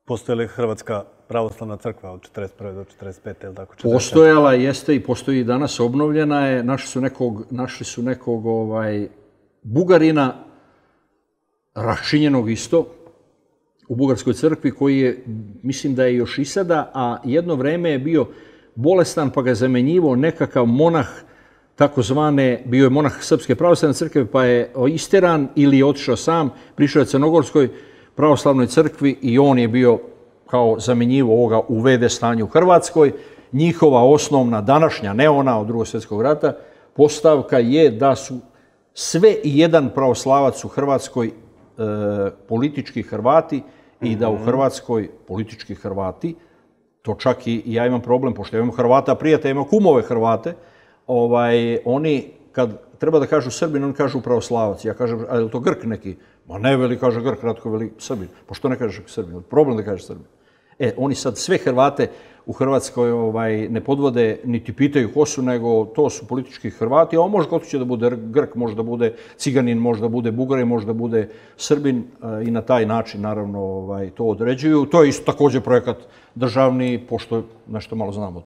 Postoji li Hrvatska pravoslavna crkva od 41. do 45. ili tako? Postojala jeste i postoji i danas, obnovljena je. Našli su nekog Bugarina, raščinjenog isto, u Bugarskoj crkvi, koji je, mislim da je još i sada, a jedno vreme je bio bolestan, pa ga je zamenjivao nekakav monah, takozvane, bio je monah Srpske pravoslavne crkve, pa je isteran ili je otišao sam, prišao je Crnogorskoj pravoslavnoj crkvi i on je bio kao zamenjivo ovoga u VD stanju u Hrvatskoj. Njihova osnovna, današnja, ne ona od Drugog svjetskog rata, postavka je da su sve i jedan pravoslavac u Hrvatskoj politički Hrvati i da u Hrvatskoj politički Hrvati, to čak i ja imam problem, pošto ja imam Hrvata prijatelja, imam kumove Hrvate, oni kad treba da kažu Srbin, oni kažu pravoslavac. Ja kažem, a je li to Grk neki? Ma ne, veli, kaže Grk, Ratko veli Srbin. Pa što ne kažeš Srbin? Problem da kažeš Srbin. Oni sad sve Hrvate u Hrvatskoj ne podvode, niti pitaju ko su, nego to su politički Hrvati, a on može kod će da bude Grk, može da bude Ciganin, može da bude Bugarin, može da bude Srbin i na taj način naravno to određuju. To je isto također projekat državni, pošto nešto malo znamo.